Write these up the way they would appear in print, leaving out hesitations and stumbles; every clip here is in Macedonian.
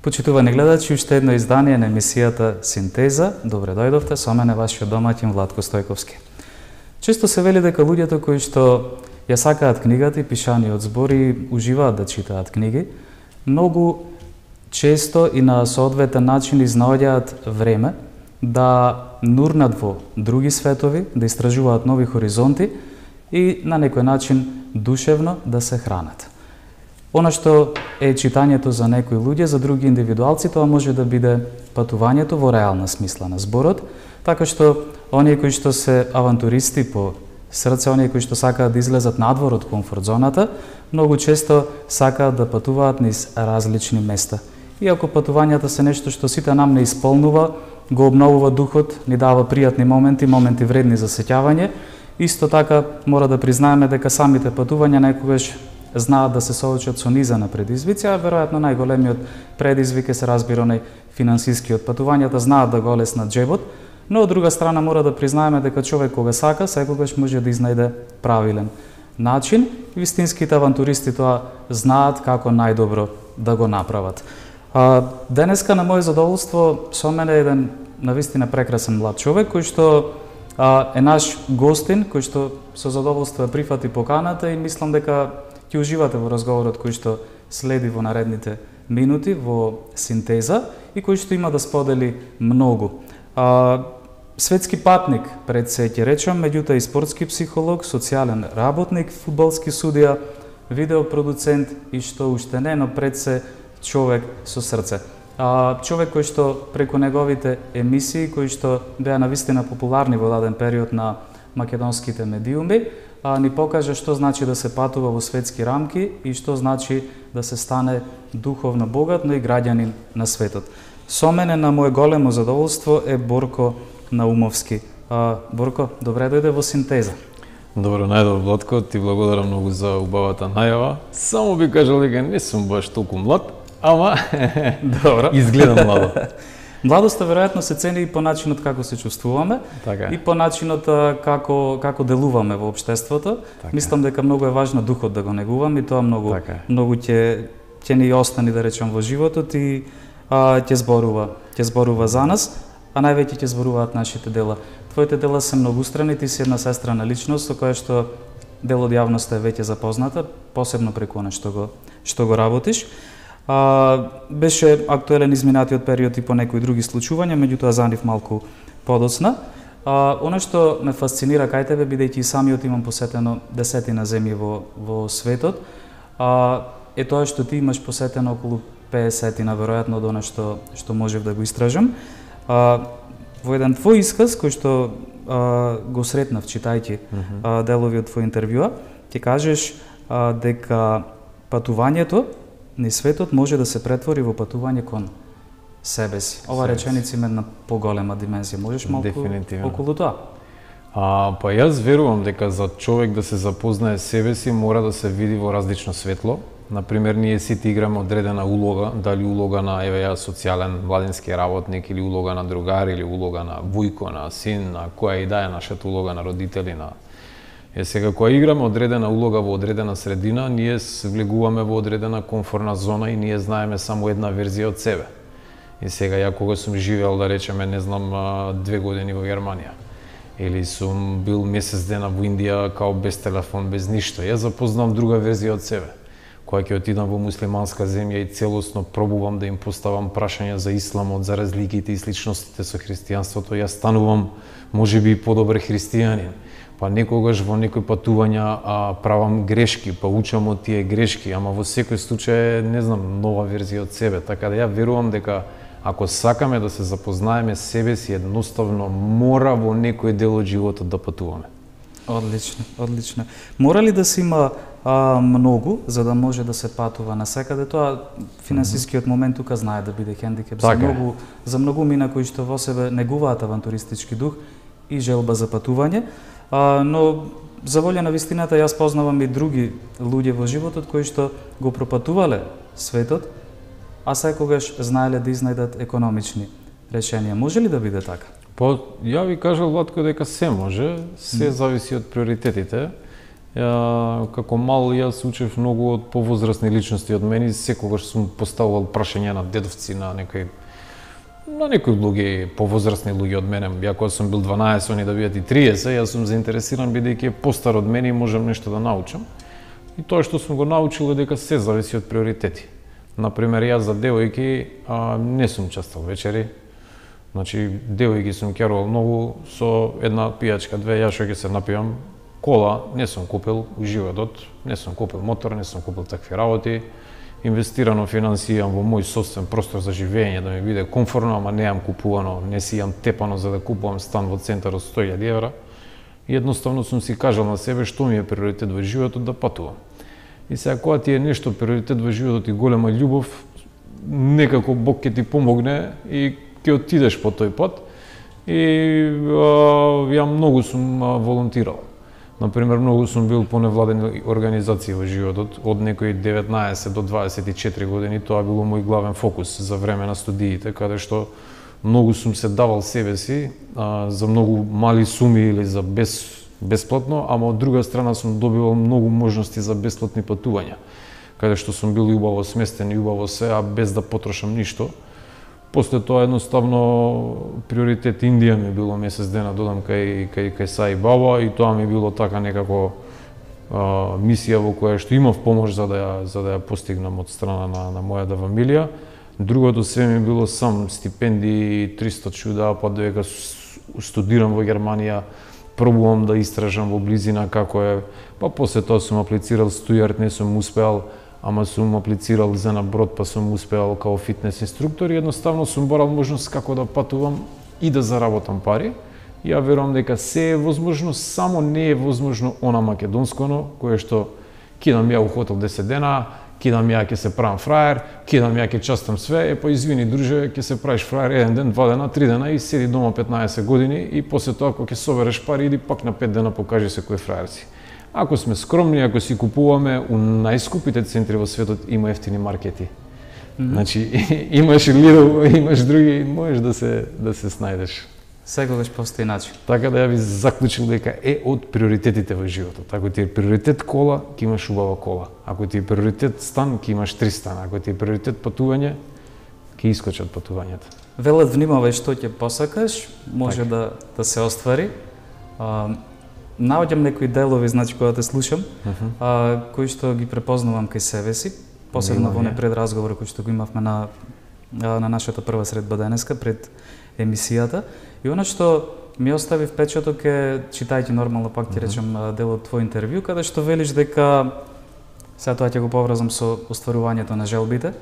Почитувани гледачи, уште едно издание на емисијата Синтеза. Добре дојдовте, со мене вашиот домаќин Владко Стојковски. Често се вели дека луѓето кои што ја сакаат книгата и пишаниот збори уживаат да читаат книги, многу често и на соодветен начин изнаоѓаат време да нурнат во други светови, да истражуваат нови хоризонти и на некој начин душевно да се хранат. Она што е читањето за некои луѓе, за други индивидуалци, тоа може да биде патувањето во реална смисла на зборот, така што оние кои што се авантуристи по срце, оние кои што сакаат да излезат надвор од комфорт зоната, многу често сакаат да патуваат низ различни места. Иако патувањата се нешто што сите нам не исполнува, го обновува духот, ни дава пријатни моменти, моменти вредни за сеќавање, исто така мора да признаеме дека самите патувања некогаш знаат да се соочат со низа на предизвици, а веројатно најголемиот предизвик се разбира онај финансискиот. Патувањата знаат да го олеснат џебот, но од друга страна мора да признаеме дека човек кога сака, секогаш може да изнајде правилен начин. Вистинските авантуристи тоа знаат како најдобро да го направат. Денеска на моје задоволство со мене е еден навистина прекрасен млад човек кој што е наш гостин, кој што со задоволство прифати поканата и мислам дека ќе уживате во разговорот кој што следи во наредните минути во Синтеза и кој што има да сподели многу. Светски патник, пред се ќе речам, меѓутоа и спортски психолог, социјален работник, фудбалски судија, видеопродуцент и што уште не, но пред се човек со срце. Човек кој што преку неговите емисии, кои што беа навистина популарни во даден период на македонските медиуми, ни покажа што значи да се патува во светски рамки и што значи да се стане духовно богат, но и граѓанин на светот. Со мене на моје големо задоволство е Борко Наумовски. Борко, добре дојде во Синтеза. Добро најдов, Владко, ти благодарам многу за убавата најава. Само би кажал дека не сум баш толку млад, ама добро. Изгледам младо. Младоста веројатно се цени и по начинот како се чувствуваме, така, и по начинот како делуваме во општеството. Така. Мислам дека многу е важно духот да го негуваме и тоа многу ќе ни остани, да речем, во животот и ќе зборува за нас, а највеќе ќе зборуваат нашите дела. Твоите дела се многустрани, ти си една сестрана личност со која што дел од јавноста е веќе запозната, посебно преку она што го работиш. Беше актуелен изминатиот период и по некои други случувања, меѓутоа за нив малку подоцна. Оно што ме фасцинира кај тебе, бидејќи и самиот имам посетено десетина земји во светот, е тоа што ти имаш посетено околу 50-тина, веројатно од она што можев да го истражам. Во еден твој исказ, кој што го сретнав читајќи делови од твој интервјуа, ти кажеш дека патувањето низ светот може да се претвори во патување кон себе си. Ова реченица има една поголема димензија. Можеш малку околу тоа? Па јас верувам дека за човек да се запознае себе си мора да се види во различно светло. Например, ние сите играме одредена улога, дали улога на социјален младински работник или улога на другар или улога на вујко, на син, на која и да е нашата улога на родители, на сега, кога играме одредена улога во одредена средина, ние влегуваме во одредена комфортна зона и ние знаеме само една верзија од себе. И сега, ја кога сум живеел, да речеме, не знам, 2 години во Германија, или сум бил месец дена во Индија, као без телефон, без ништо, ја запознам друга верзија од себе. Кога ќе отидам во муслиманска земја и целосно пробувам да им поставам прашања за исламот, за разликите и сличностите со христијанството, ја станувам можеби подобар христијанин. Па некогаш во некои патувања правам грешки, па учам од тие грешки, ама во секој случај не знам, нова верзија од себе. Така да ја верувам дека ако сакаме да се запознаеме себе си, едноставно мора во некој дел од животот да патуваме. Одлично, одлично. Мора ли да се има многу за да може да се патува насекаде? Тоа финансискиот момент тука знае да биде хендикеп за многу мина кои што во себе негуваат авантуристички дух и желба за патување. Но за волја на вистината јас познавам и други луѓе во животот кои што го пропатувале светот, а секогаш знаеле да изнајдат економични решенија. Може ли да биде така? Па, ја ви кажал, Владко, дека се може, се зависи од приоритетите. Како мал јас учев многу од повозрасни личности од мене и секогаш сум поставувал прашања на дедовци, на некои луѓе, повозрасни луѓе од мене. Ја кога сум бил 12, они да бидат и 30, јас сум заинтересиран бидејќи е постар од мене и можам нешто да научам. И тоа што сум го научил е дека се зависи од приоритети. Например, јас за девојки не сум частал вечери. Значи, девојки сум керувал многу со една пијачка, две, јас што ќе се напивам. Кола не сум купил у животот, не сум купил мотор, не сум купил такви работи. Инвестирано финансии имам во мој собствен простор за живење, да ми биде комфортно, ама неам купувано, не си имам тепано за да купувам стан во центар од 100.000 евра. И едноставно сум си кажал на себе што ми е приоритет во животот да патувам. И сега кога ти е нешто приоритет во животот и голема љубов, некако Бог ќе ти помогне и ќе отидеш по тој пат. И ја многу сум волонтирал. Например, многу сум бил по невладени организации во животот, од некои 19 до 24 години, тоа било мој главен фокус за време на студиите, каде што многу сум се давал себе си за многу мали суми или за бесплатно, ама од друга страна сум добивал многу можности за бесплатни патувања, каде што сум бил убаво сместен и убаво се, а без да потрошам ништо. После тоа едноставно приоритет Индија ми било месец дена додам кај Саи Баба и тоа ми било така некако мисија во која што имав помош за да ја постигнам од страна на мојата фамилија. Другото се ми било сам стипендии, 300 чуда, па додека студирам во Германија, пробувам да истражам во близина како е, па после тоа сум аплицирал стујард, не сум успеал, ама сум аплицирал за на брод, па сум успеал као фитнес инструктор и едноставно сум барал можност како да патувам и да заработам пари. Ја верувам дека се е возможно, само не е возможно она македонсконо, кое што кидам ја у хотел 10 дена, кидам ја ќе се правам фраер, кидам ја ќе частам све, па извини друже, ќе се правиш фраер 1 ден, 2 дена, 3 дена и седи дома 15 години и после тоа кога ќе собереш пари иди пак на 5 дена покажи се кој фраер си. Ако сме скромни, ако си купуваме у најскупите центри во светот, има ефтини маркети. Значи, имаш Lidl, имаш други, можеш да се снајдеш. Секогаш постои начин. Така да ја ви заклучил дека е од приоритетите во животот. Ако ти е приоритет кола, ќе имаш убава кола. Ако ти е приоритет стан, ќе имаш 3 стана. Ако ти е приоритет патување, ќе искочат патувањата. Велат внимавај што ќе посакаш, може да се оствари. Наоѓам некои делови, значи кога те слушам, кои што ги препознавам кај себе си, посебно во пред разговор кој што го имавме на нашата прва средба денеска пред емисијата. И она што ми остави впечаток е, читајќи нормално пак ти речем дел од твој интервју, каде што велиш дека, сега тоа ќе го поврзам со остварувањето на желбите,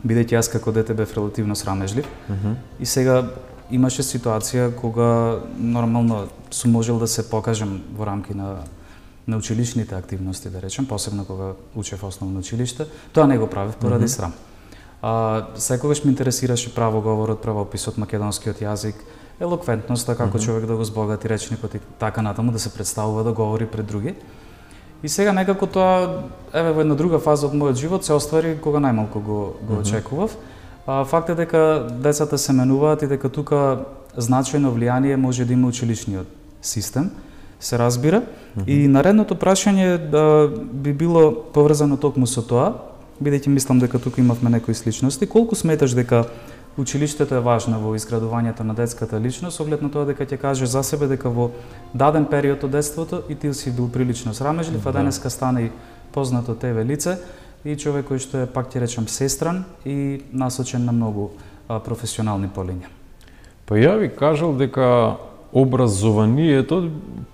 бидејќи јас како дете бев релативно срамежлив, и сега имаше ситуација кога нормално сум можел да се покажам во рамки на училишните активности, да речем, посебно кога учев основно училиште. Тоа не го правев поради срам. Секогаш ме интересираше правоговорот, правописот, македонскиот јазик, елоквентноста, како човек да го збогати речникот и така натаму, да се представува, да говори пред други. И сега некако тоа, во една друга фаза од мојот живот се оствари кога најмалку го очекував. Факт е дека децата се менуваат и дека тука значајно влијание може да има училишниот систем, се разбира. И наредното прашање би било поврзано токму со тоа, бидејќи мислам дека тука имавме некои сличности. Колку сметаш дека училиштето е важно во изградувањето на детската личност, оглед на тоа дека ќе кажеш за себе дека во даден период од детството и ти си бил прилично срамежлив, а денеска стана и познато тебе лице и човек кој што е, пак ќе речам, сестран и насочен на многу професионални полиња. Па ја ви кажал дека образованието,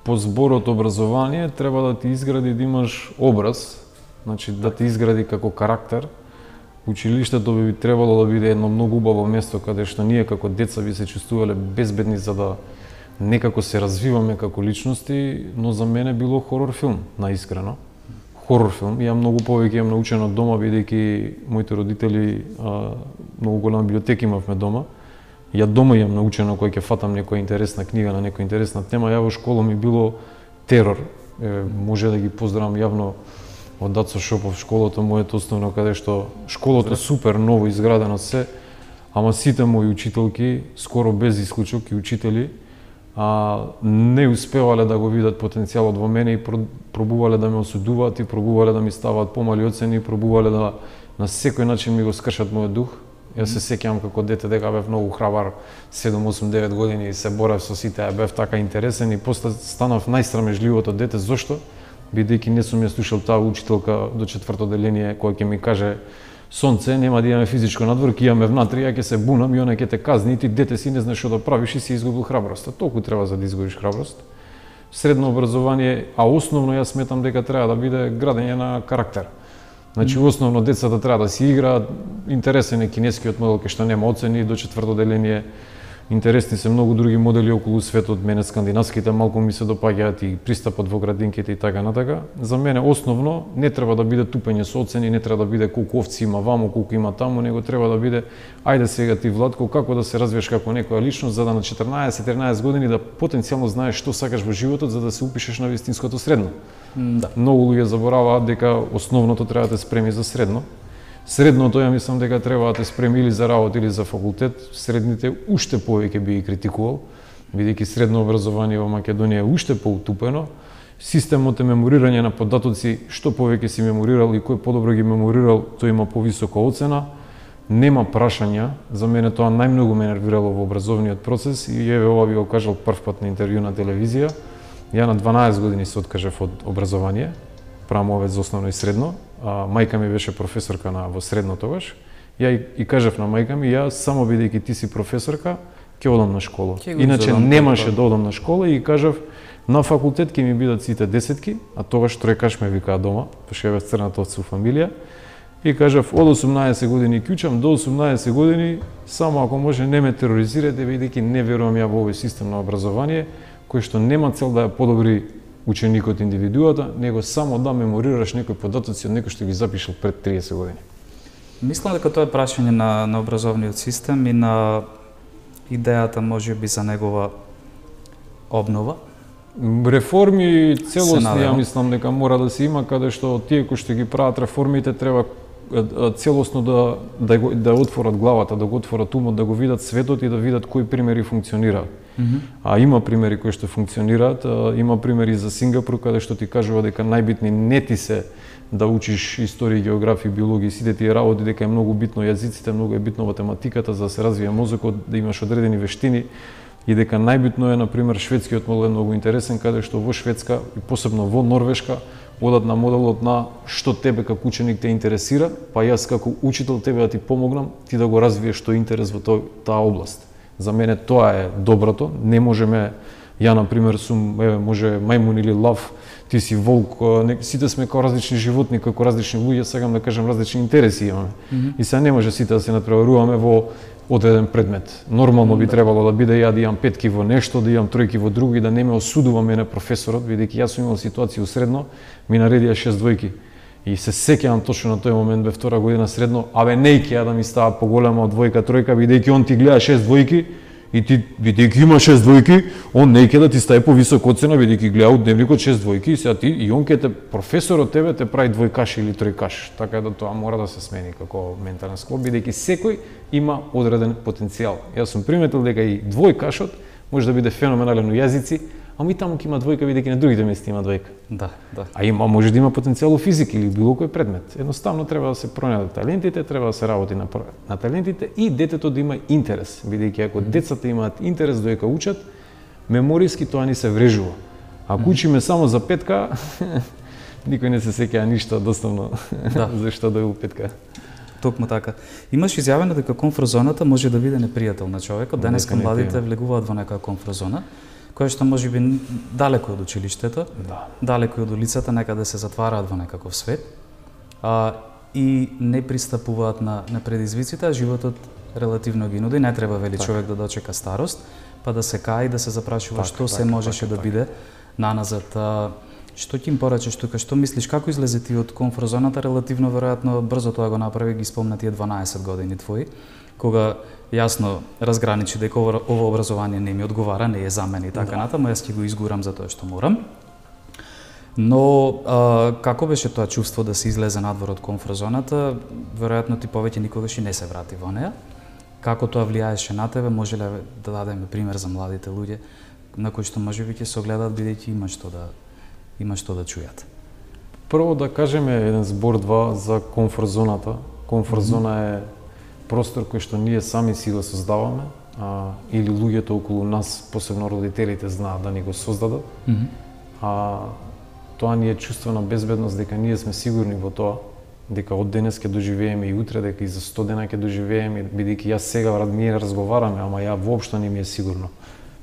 по зборот образование, треба да ти изгради да имаш образ, значи да ти изгради како карактер. Училиштето би требало да биде едно многу убаво место каде што ние како деца би се чувствувале безбедни за да некако се развиваме како личности, но за мене било хорор филм, наискрено. Хорор филм. Ја многу повеќе имам научено од дома, бидејќи моите родители многу голема библиотека имавме дома. Ја дома имам научено кога ќе фатам некоја интересна книга на некоја интересна тема. Ја во школа ми било терор. Може да ги поздравам јавно од Дацо Шопов, школото моето основно, каде што школото супер ново изградено се, ама сите мои учителки, скоро без исклучок и учители, не успевале да го видат потенцијалот во мене и пробувале да ме осудуваат и пробувале да ми ставаат помали оцени, пробувале да на секој начин ми го скршат мојот дух. Јас се сеќавам како дете дека бев многу храбар, 7, 8, 9 години и се борев со сите, бев така интересен и после станав најсрамежливото дете. Зошто? Бидејќи не сум ја слушал таа учителка до 4-то деление која ќе ми каже: сонце, нема да имаме физичко надвор, ќе имаме внатре, ја ќе се бунам и она ќе те казни и ти дете си не знаеш што да правиш и си изгубил храброст. Толку треба за да изгубиш храброст. Средно образование, а основно јас сметам дека треба да биде градење на карактер. Значи, основно децата треба да си играат, интересен е кинескиот модел кај што нема оцени до 4-то деление. Интересни се многу други модели околу светот, мене скандинавските малку ми се допаѓаат и пристапот во градинките и така натака. За мене основно не треба да биде тупење со оцени, не треба да биде колку овци има ваму, колку има таму, него треба да биде ајде сега ти Владко како да се развиеш како некоја личност за да на 14-13 години да потенцијално знаеш што сакаш во животот за да се упишеш на вистинското средно. Да. Многу луѓе забораваат дека основното треба да те спреми за средно. Средното, ја мислам дека треба да те спреми или за работа или за факултет. Средните уште повеќе би ги критикувал, бидејќи средно образование во Македонија е уште поутупено. Системот е меморирање на податоци, што повеќе си меморирал и кој подобро ги меморирал, тој има повисока оцена. Нема прашања, за мене тоа најмногу ме нервирало во образовниот процес и еве ова би го кажал првпат на интервју на телевизија. Ја на 12 години се откажав од образование, правам за основно и средно. Мајка ми беше професорка во средно тогаш. Ја и кажав на мајка ми, ја само бидејќи ти си професорка, ќе одам на школа. Иначе немаше да одам на школа и кажав на факултет ќе ми бидат сите десетки, а тогаш тројкаш ме викаа дома, пошто бев црната овца во фамилија. И кажав од 18 години кјучам до 18 години, само ако може не ме тероризирате, бидејќи не верувам ја во овој систем на образование кој што нема цел да ја подобри ученикот индивидуата, него само да меморираш некои податоци од некој што ги запишал пред 30 години. Мислам дека тоа е прашање на образовниот систем и на идејата можеби за негова обнова. Реформи целосни, ја мислам дека мора да се има, каде што тие кои што ги прават реформите треба целосно да отворат главата, да го отворат умот, да го видат светот и да видат кои примери функционираат. А има примери кои што функционираат, има примери за Сингапур каде што ти кажува дека најбитни не ти се да учиш историја, географија, биологија, сите тие работи, дека е многу битно јазиците, многу е битно математиката за да се развие мозокот, да имаш одредени вештини и дека најбитно е, например, шведскиот модел е многу интересен, каде што во Шведска и посебно во Норвешка одат на моделот на што тебе како ученик те интересира, па јас како учител тебе да ти помогнам, ти да го развиеш тој интерес во таа област. За мене тоа е доброто. Не можеме, ја например сум, може мајмун или лав, ти си волк, сите сме како различни животни, како различни луѓе, сакам да кажам различни интереси имаме. И сега не може сите да се надпреваруваме во одреден предмет. Нормално би требало да биде ја да имам петки во нешто, да имам тројки во друго и да не ме осудува мене професорот, бидејќи јас сум имал ситуација у средно, ми наредија 6 двојки. И се сеќавам точно на тој момент, бе втора година средно, не ќе да ми става поголема од двојка, тројка, бидејќи он ти гледа 6 двојки и ти, бидејќи има 6 двојки, он не ќе да ти стави повисока оцена, бидејќи гледа од дневникот 6 двојки и сега ти, и он ќе те, професорот тебе те прави двојкаш или тројкаш. Така да тоа мора да се смени како ментален склоп, бидејќи секој има одреден потенцијал. Јас сум приметил дека и двојкашот може да биде феноменален у јазици, ама и таму ќе има двојка, бидејќи на другите места има двојка. Да. А има, може да има потенцијал у физика или било кој предмет. Едноставно треба да се пронајдат талентите, треба да се работи на талентите и детето да има интерес, бидејќи ако децата имаат интерес додека учат, мемориски тоа ни се врежува. Ако учиме само за петка, никој не се сеќава ништо доставно зашто да е у петка. Токму така. Имаш изјавено дека комфорт зоната може да биде непријател на човекот. Денеска младите влегуваат во некоја комфорт зона, која што може би далеко од училиштето, далеко од улицата, некаде се затвараат во некаков свет и не пристапуваат на предизвиците, а животот релативно ги нуди. Не треба вели човек да дочека старост, па да се каи, да се запрашува што се можеше да биде наназад. Што ќе им порачеш тука? Што мислиш, како излезе ти од комфорт зоната? Релативно веројатно брзо тоа го направи, ги спомна тие 12 години твои, кога јасно разграничи дека ова образование не ми одговара, не е за мене и така натаму, јас ќе го изгурам за тоа што морам. Но како беше тоа чувство да се излезе надвор од комфорт зоната? Веројатно ти повеќе никогаш и не се врати во неа. Како тоа влијаеше на тебе? Може ли да дадеме пример за младите луѓе? на кои што можеби ќе се огледаат бидејќи има што да чујат? Прво да кажеме еден збор-два за комфорт зоната. Комфорт зона е простор кој што ние сами си го создаваме, или луѓето околу нас, посебно родителите, знаат да ни го создадат. Тоа ни е чувство на безбедност, дека ние сме сигурни во тоа, дека од денес ќе доживееме и утре, дека и за 100 дена ќе доживееме, бидејќи јас сега ние разговараме, ама ја воопшто не ми е сигурно.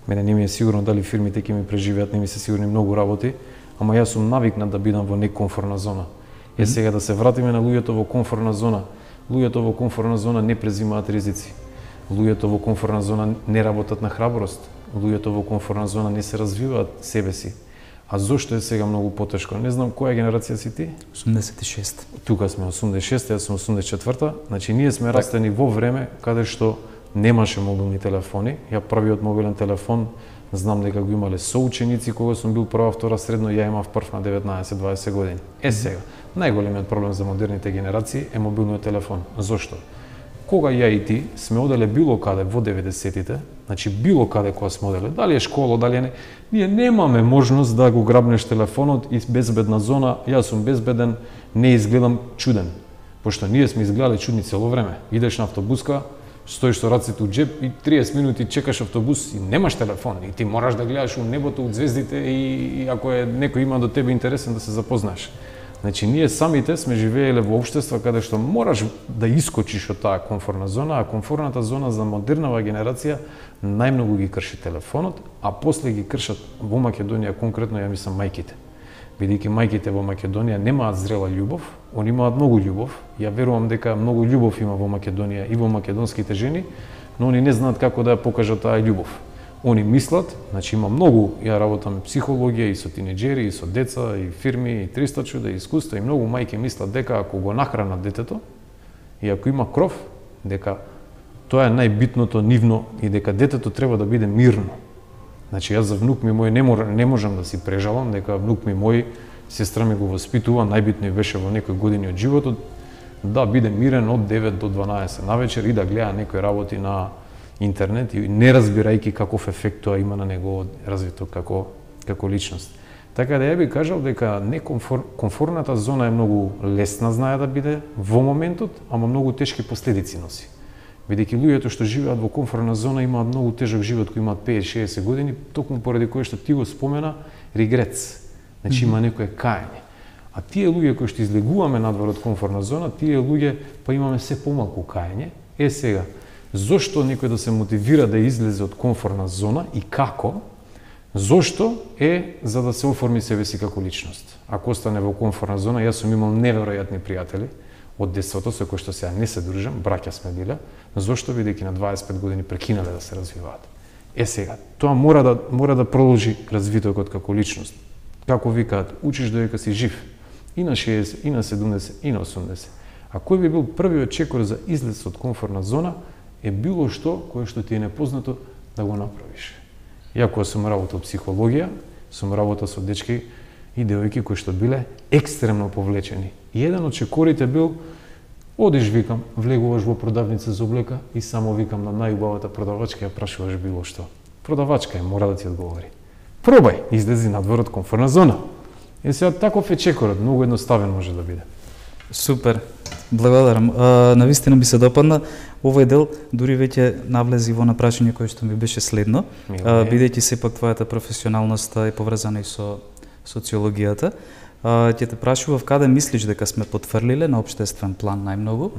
Мене не ми е сигурно дали фирмите ќе ми преживеат, не ми се сигурни многу работи, ама јас сум навикнат да бидам во некомфортна зона. Сега да се вратиме на луѓето во комфортна зона. Луѓето во комфортна зона не презимаат ризици. Луѓето во комфортна зона не работат на храброст. Луѓето во комфортна зона не се развиваат себе си. А зошто е сега многу потешко? Не знам која генерација си ти? 86. Тука сме 86, јас сум 84-та. Значи ние сме растени во време каде што немаше мобилни телефони. Ја првиот мобилен телефон знам дека го имале соученици кога сум бил прва, втора средно, ја имав прв на 19-20 години. Сега, најголемиот проблем за модерните генерации е мобилниот телефон. Зошто? Кога ја и ти сме оделе било каде во 90-тите, значи било каде кога сме оделе, дали е школа, дали е ние немаме можност да го грабнеш телефонот и безбедна зона, јас сум безбеден, не изгледам чуден. Пошто ние сме изгледали чудни цело време. Идеш на автобуска, стоиш со раците у джеп и 30 минути чекаш автобус и немаш телефон. И ти мораш да гледаш у небото, у звездите и ако е некој има до тебе интересен да се запознаеш. Значи, ние самите сме живееле во општество каде што мораш да искочиш од таа комфортна зона, а комфортната зона за модернава генерација најмногу ги крши телефонот, а после ги кршат во Македонија конкретно, ја мислам, мајките. Бидејќи мајките во Македонија немаат зрела љубов, они имаат многу љубов. Ја верувам дека многу љубов има во Македонија и во македонските жени, но они не знаат како да ја покажат таа љубов. Они мислат, значи има многу, ја работам психологија и со тинеџери, и со деца, и фирми, и 300 чуда, и искуства, и многу мајки мислат дека ако го нахранат детето и ако има кров, дека тоа е најбитното нивно и дека детето треба да биде мирно. Значи јас за внук ми мој не можам да си прежалам дека внук ми мој, сестра ми го воспитува, најбитно беше во некои години од животот да биде мирен од 9 до 12 навечер и да гледа некои работи на интернет и не разбирајќи каков ефект тоа има на негово развито како личност. Така да ја би кажал дека комфортната зона е многу лесна знае да биде во моментот, ама многу тешки последици носи. Бидејќи луѓето што живеат во комфортна зона имаат многу тежок живот кои имаат 50-60 години, токму поради кое што ти го спомена регрец. Значи има некое каење. А тие луѓе кои што излегуваме надвор од комфортна зона, тие луѓе па имаме се помалку каење. Сега, зошто некој да се мотивира да излезе од комфортна зона и како? Зошто е за да се оформи себе си како личност. Ако остане во комфортна зона, јас сум имал неверојатни пријатели од детството со кои што сега не се дружам, браќа сме биле, зошто бидејќи на 25 години прекинале да се развиваат. Сега, тоа мора да продолжи развитокот како личност. Како викаат, учиш додека си жив. И на 60, и на 70, и на 80. А кој би бил првиот чекор за излез од комфортна зона е било што кое што ти е непознато да го направиш. Ја кога сум работел психологија, сум работел со дечки и девојки кои што биле екстремно повлечени. И еден од чекорите бил, одиш, викам, влегуваш во продавница за облека и само викам на најубавата продавачка ја прашуваш било што. Продавачка е, мора да ти одговори. Пробај, излези надвор од комфортна зона. Сега таков е чекорот, многу едноставен може да биде. Супер, благодарам. Навистина ми се допадна. Овој дел дури веќе навлези во напрашање кој што ми беше следно, бидејќи сепак твојата професионалност е поврзана и со социологијата. Ќе те прашував каде мислиш дека сме потфрлиле на општествен план најмногу.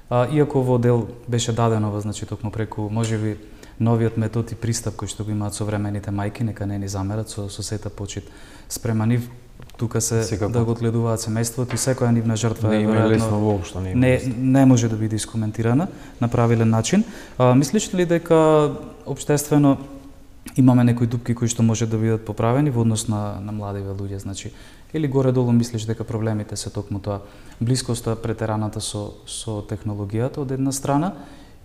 Иако во дел беше дадено, значи токму преку можеби новиот метод и пристап кој што го имаат современите мајки, нека не ни замерат со сета почит спрема нив. Тука се да го одгледуваат семејството и секоја нивна жртва не има лесно воопшто, не може да биде искоментирана на правилен начин. Мислиш ли дека општествено имаме некои дупки кои што може да бидат поправени во однос на младиве луѓе, значи или горе-долу мислиш дека проблемите се токму тоа блискоста претераната со технологијата од една страна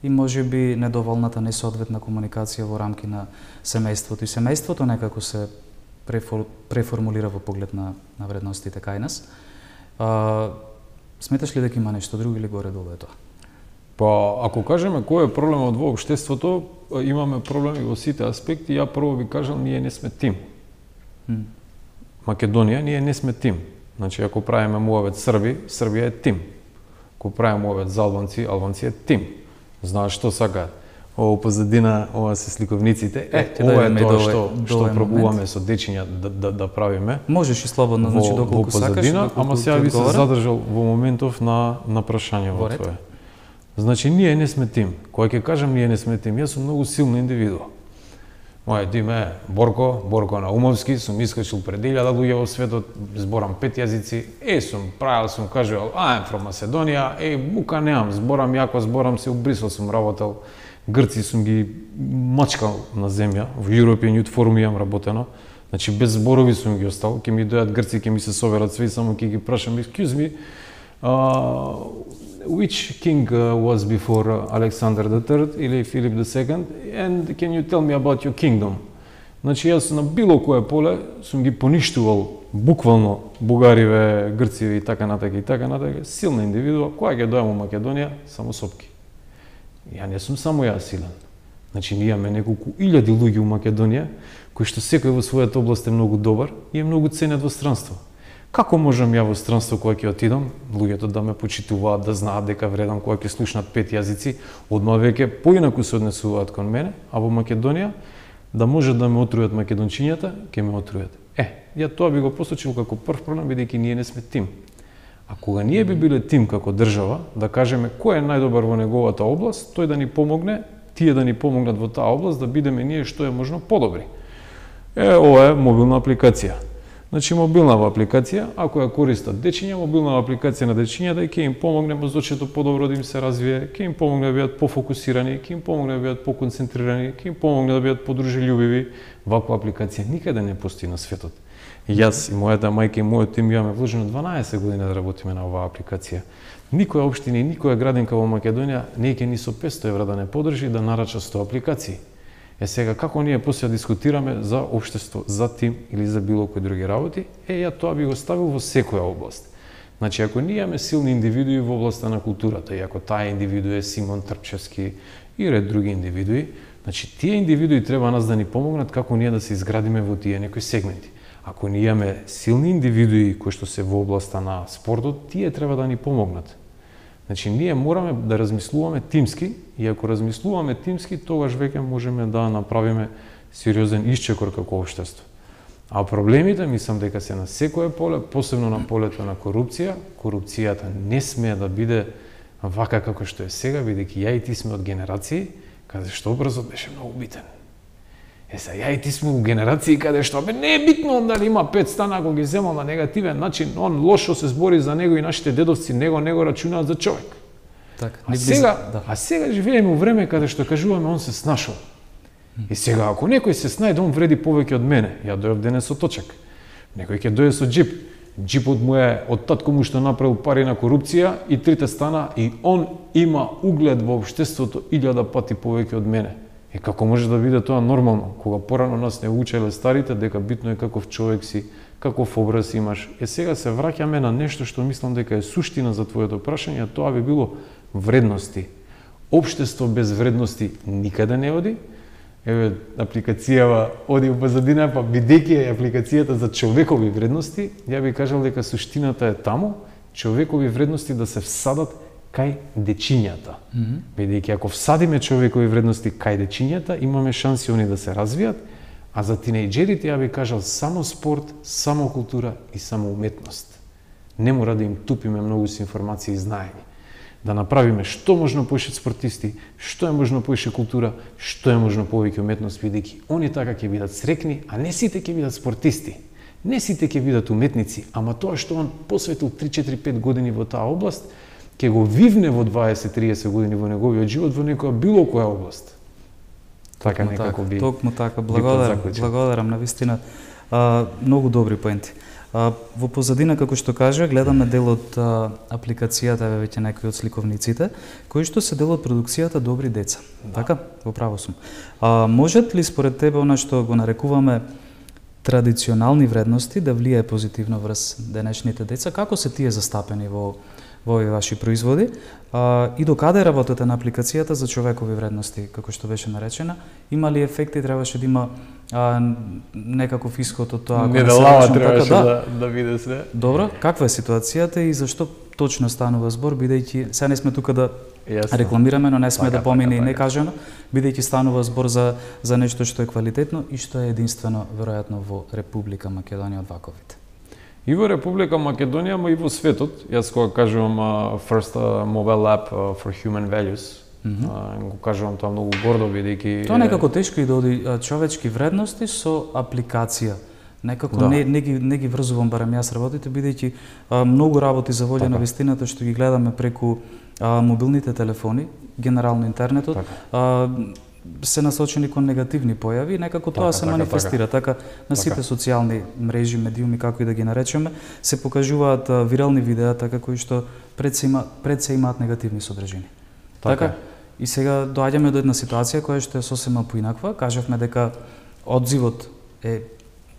и можеби недоволната несоодветна комуникација во рамки на семејството и семејството некако се преформулира во поглед на вредностите кај нас. Сметаш ли дека има нешто друго или горе-долу е тоа? Па, ако кажеме кој е проблемот во општеството, имаме проблеми во сите аспекти. Ја прво би кажал, ние не сме тим. Македонија, ние не сме тим. Значи, ако правиме муавет Срби, Србија е тим. Ако правиме муавет за албанци, албанци е тим. Знаеш што сакаат? Ово позадина, ова се сликовниците. Ова е тоа што пробуваме со дечиња да правиме. Можеш и слободно, значи доколку сакаш. Ама сега би се задржал во моментов на прашањето твое. Значи, ние не сме тим. Кога ќе кажам ние не сме тим, јас сум многу силна индивидуа. Мојот тим е Борко Наумовски, сум искачил пред 1000 луѓе во светот, зборам 5 јазици, сум кажувал, I'm from Macedоnia, бука немам, зборам јако, зборам се, у Брисел сум работел, Грци сум ги мачкал на земја, во European Youth Forum имам работено, значи без зборови сум ги остал, ќе ми дојат Грци, ќе ми се соберат све, само ќе ги прашам, excuse me, which king was before Alexander III или Philip II, and can you tell me about your kingdom? Значи, јас на било кое поле сум ги поништувал буквално бугариве, грциве и така натака, силна индивидуа, која ќе дојам во Македонија, само сопки. Ја не сум само јас силен. Значи, ние имаме неколку илјади луѓе во Македонија, кои што секој во својата област е многу добар и е многу ценет во странство. Како можам ја во странство кога ќе отидам, луѓето да ме почитуваат, да знаат дека вредам, кога ќе слушнат 5 јазици, одма веќе поинаку се однесуваат кон мене, а во Македонија да може да ме отрујат македончињата, ќе ме отрујат. Ја тоа би го посочил како прв проблем, бидејќи ние не сме тим. А кога ние би биле тим како држава, да кажеме кој е најдобар во неговата област, тој да ни помогне, тие да ни помогнат во таа област, да бидеме ние што е можно подобри. Ова е мобилна апликација. Значи, мобилна апликација, ако ја користат дечиња, мобилна апликација на дечињата ќе им помогне мозочето подобро да им се развие, ќе им помогне да бидат пофокусирани, ќе им помогне да бидат поконцентрирани, ќе им помогне да бидат подружелјубиви. Ваква апликација никаде не постои на светот. Јас и мојата мајка и мојот тим имаме вложено 12 години да работиме на оваа апликација. Никоја општина и никоја градинка во Македонија не ќе ни со 500 евра да не подржи да нарача 100 апликации. Сега, како ние после дискутираме за општество, за тим или за било кои други работи, ја тоа би го ставил во секоја област. Значи, ако ние имаме силни индивидуи во областа на културата, и ако таа индивиду е Симон Трпчевски и ред други индивидуи, значи, тие индивидуи треба нас да ни помогнат како ние да се изградиме во тие некои сегменти. Ако ние имаме силни индивидуи кои што се во областа на спортот, тие треба да ни помогнат. Значи, ние мораме да размислуваме тимски, и ако размислуваме тимски, тогаш веќе можеме да направиме сериозен исчекор како општество. А проблемите, мислам дека се на секое поле, посебно на полето на корупција. Корупцијата не смее да биде вака како што е сега, бидејќи ја и ти сме од генерации, каде што образот беше многу битен. Ја и ти сме у генерации каде што не е битно дали има 5 стана, ако ги земал на негативен начин, он лошо се збори за него и нашите дедовци него рачунаат за човек. Така, а сега живееме у време каде што кажуваме он се снашол. И сега ако некој се снајде, он вреди повеќе од мене. Ја дојав денес со точак. Некој ќе дојде со џип. Џипот му е од татко му што направил пари на корупција и 3 стана и он има углед во општеството 1000 пати повеќе од мене. И како може да биде тоа нормално, кога порано нас не учеле старите дека битно е каков човек си, каков образ имаш. Сега се враќаме на нешто што мислам дека е суштина за твоето прашање, а тоа би било вредности. Општество без вредности никаде не оди. Апликацијава оди во позадина, па бидејќи е апликацијата за човекови вредности, ја би кажал дека суштината е таму, човекови вредности да се всадат кај дечињата. Бидејќи ако всадиме човекови вредности кај дечињата, имаме шанси они да се развијат, а за тинејџерите ја би кажал само спорт, само култура и само уметност. Не мора да им тупиме многу со информации и знаење. Да направиме што можно поише спортисти, што е можно поише култура, што е можно повеќе уметност, бидејќи они така ќе бидат срекни, а не сите ќе бидат спортисти. Не сите ќе бидат уметници, ама тоа што он посветил 3-4-5 години во таа област, ќе го вивне во 20-30 години во неговиот живот во некоја било која област. Така некако би. Токму така, благодарам на вистина. Многу добри поенти. Во позадина, како што кажа, гледаме дел од апликацијата, веќе некои од сликовниците, кои што се дел од продукцијата Добри деца. Така? Во право сум. Можат ли според тебе она што го нарекуваме традиционални вредности да влијае позитивно врз денешните деца? Како се тие застапени во во овие ваши производи. И докаде работите на апликацијата за човекови вредности, како што беше наречена? Има ли ефекти, требаше да има некаков исход од тоа? Не да лава требаше да биде све. Добро, каква е ситуацијата и зашто точно станува збор, бидејќи сега не сме тука да рекламираме, но не сме да помине и некажано, бидејќи станува збор за нешто што е квалитетно и што е единствено веројатно во Република Македонија од ваковите. И во Република Македонија, но и во светот. Јас кога кажувам First Mobile App for Human Values, го кажувам тоа многу гордо, бидејќи тоа некако тешко и да оди човечки вредности со апликација. Некако не ги врзувам, барем јас работите, бидејќи многу работи за волја на вистината што ги гледаме преку мобилните телефони, генерално интернетот, се насочени кон негативни појави и некако тоа се манифестира. Така на сите социјални мрежи, медиуми, како и да ги наречеме, се покажуваат вирални видеа така кои што пред се имаат негативни содржини. Така и сега доаѓаме до една ситуација која што е сосема поинаква. Кажавме дека одзивот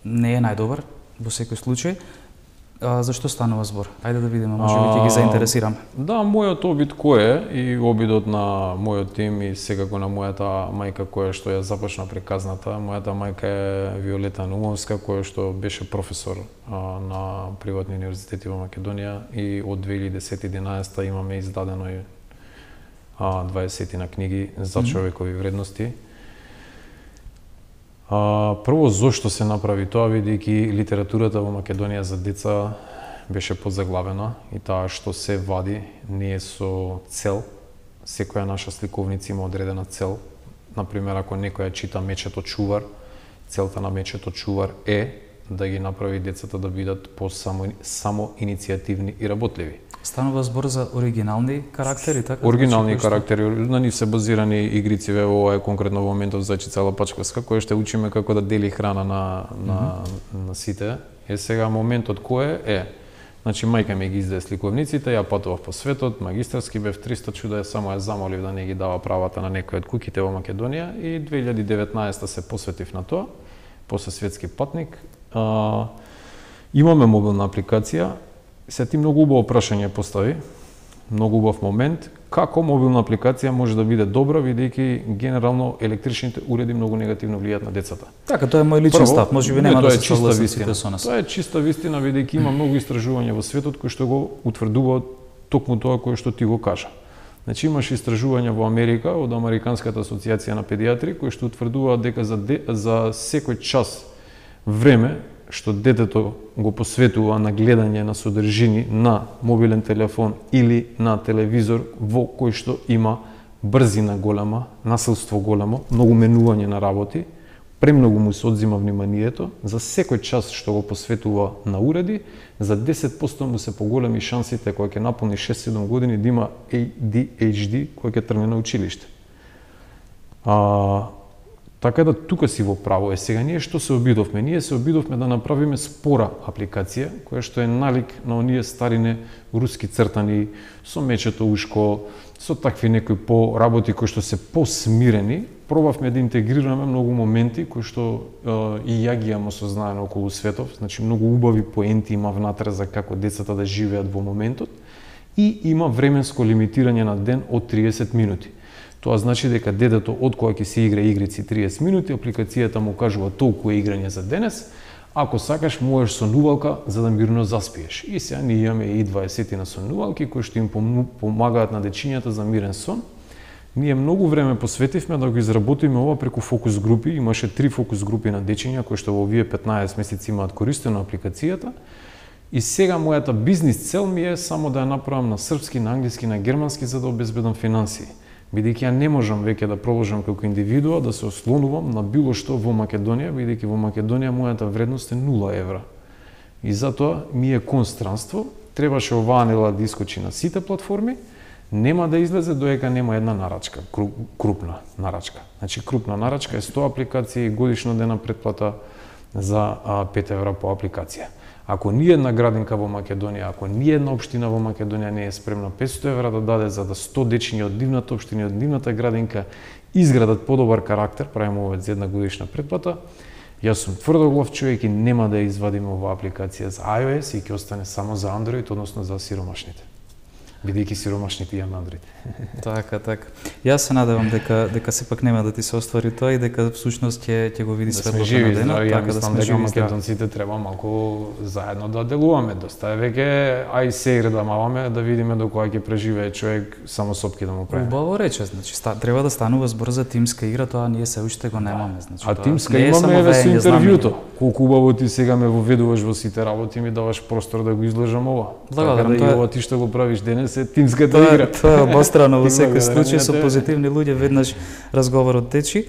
не е најдобар во секој случај. Зашто станува збор? Ајде да видиме, може би ќе ги заинтересираме. Да, мојот обид кој е и обидот на мојот тим и секако на мојата мајка која што ја започна приказната. Мојата мајка е Виолета Наумовска, која што беше професор на приватни универзитети во Македонија и од 2010-11 имаме издадено и 20 на книги за човекови вредности. Прво, зошто се направи тоа, бидејќи литературата во Македонија за деца беше подзаглавена и таа што се вади не е со цел. Секоја наша сликовница има одредена цел. Например, ако некоја чита Мечето чувар, целта на Мечето чувар е да ги направи децата да бидат само иницијативни и работливи. Станува збор за оригинални карактери, така? Оригинални карактери, на нив се базирани игрици, ова е конкретно во моментов Зачица Лапачковска, која ще учиме како да дели храна на сите. Сега моментот кој е? Значи, мајка ми ги издаде сликовниците, ја патував по светот, магистарски бев 300 чуда, само ја замолив да не ги дава правата на некој од куќите во Македонија и 2019 се посветив на тоа, после светски патник. Имаме мобилна апликација. Се ти многу убаво прашање постави, многу убав момент, како мобилна апликација може да биде добра, бидејќи генерално електричните уреди многу негативно влијаат на децата. Така, тоа е мој личен став, можеби нема да се согласите сите со нас. Тоа е чиста вистина, бидејќи има многу истражувања во светот кои што го утврдуваат токму тоа кое што ти го кажа. Значи имаш истражувања во Америка од Американската асоциација на педиатри кои што утврдуваат дека за секој час време што детето го посветува на гледање на содржини на мобилен телефон или на телевизор во кој што има брзина голема, насилство големо, многу менување на работи, премногу му се одзима вниманието, за секој час што го посветува на уреди, за 10% му се поголеми шансите кога ќе наполни 6-7 години да има ADHD кога ќе тргне на училиште. Така да тука си во право е. Сега ние што се обидовме? Ние се обидовме да направиме спора апликација, која што е налик на оние старине руски цртани, со мечето ушко, со такви некои работи кои што се посмирени. Пробавме да интегрираме многу моменти кои што и ја ги имаме осознаено околу светов, значи многу убави поенти има внатре за како децата да живеат во моментот и има временско лимитирање на ден од 30 минути. Тоа значи дека детето од кога ќе се игра игрици 30 минути, апликацијата му кажува толку е играње за денес, ако сакаш можеш сонувалка за да мирно заспиеш. И сега ние имаме и 20 на сонувалки кои што им помагаат на дечињата за мирен сон. Ние многу време посветивме да го изработиме ова преку фокус групи, имаше 3 фокус групи на дечиња кои што во овие 15 месеци имаат користено апликацијата. И сега мојата бизнис цел ми е само да ја направам на српски, на англиски, на германски за да обезбедам финансии. Бидејќи ја не можам веќе да продолжам како индивидуа да се ослонувам на било што во Македонија, бидејќи во Македонија мојата вредност е 0 евра. И затоа ми е констранство, требаше оваа нела да искочи на сите платформи, нема да излезе доека нема една нарачка, крупна нарачка. Значи крупна нарачка е 100 апликации и годишна дена претплата за 5 евра по апликација. Ако ни една градинка во Македонија, ако ни една општина во Македонија не е спремна 500 евра да даде за да 100 дечиња од нивната општина и од нивната градинка изградат подобар карактер, правиме ова за една годишна претплата, јас сум тврдоглав човек и нема да ја извадиме оваа апликација за iOS и ќе остане само за Android, односно за сиромашните. бидејќи сиромашните имаме Android. Така. Јас се надевам дека сепак нема да ти се оствари тоа и дека всушност ќе го види светлото на денот, така да сме живи. Македонците треба малку заедно да делуваме, доста е веќе ај се да маваме да видиме до кога ќе преживее човек само сопки да му прави. Убаво рече, значи треба да станува збор за тимска игра, тоа ние се уште го немаме, значи. А тимска имаме еве со интервјуто. Колку убаво ти сега ме воведуваш во сите работи, ми даваш простор да го изложам ова. Така да и ова ти што го правиш денес е тимската игра. Тоа е обострано во секој случај со позитивни луѓе, веднаш разговорот течи.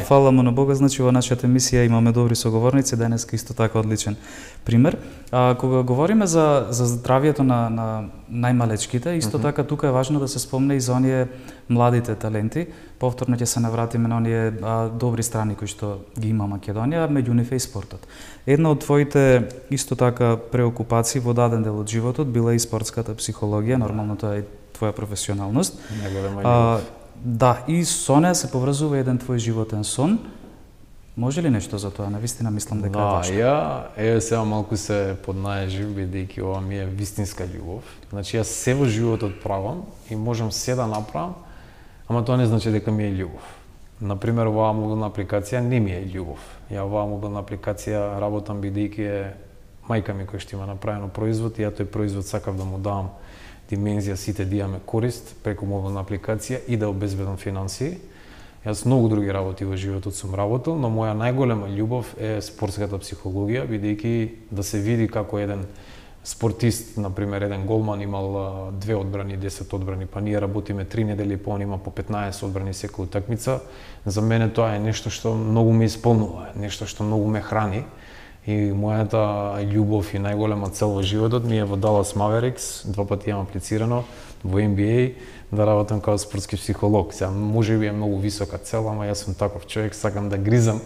Фала му на Бога, значи во нашата емисија имаме добри соговорници, денеска исто така одличен пример. Кога говориме за здравјето на најмалечките, исто така тука е важно да се спомне и за оние младите таленти. Повторно ќе се навратиме на оние добри страни кои што ги има Македонија, меѓу нив е и спортот. Една од твоите исто така преокупации во даден дел од животот била и спортската психологија, нормално тоа е твоја професионалност. Да, и со неа се поврзува еден твој животен сон. Може ли нешто за тоа? Навистина мислам дека е важно. Ја сега малку се поднаежив, бидејќи ова ми е вистинска љубов. Значи јас се во животот правам и можам се да направам, ама тоа не значи дека ми е љубов. Например, оваа мобилна апликација не ми е љубов. Ја оваа мобилна апликација работам бидејќи е мајка ми која што има направено производ и ја тој производ сакав да му давам димензија, сите да имаме корист преку мобилна апликација и да обезбедам финансии. Јас многу други работи во животот сум работел, но моја најголема љубов е спортската психологија, бидејќи да се види како еден спортист, например, еден голман имал 2 одбрани, 10 одбрани, па ние работиме 3 недели, па он има по 15 одбрани секоја утакмица. За мене тоа е нешто што многу ме исполнува, нешто што многу ме храни. И мојата љубов и најголема цел во животот ми е во Dallas Mavericks, 2 пати имам аплицирано во NBA, да работам како спортски психолог. Сега можеби е многу висока цел, ама јас сум таков човек, сакам да гризам.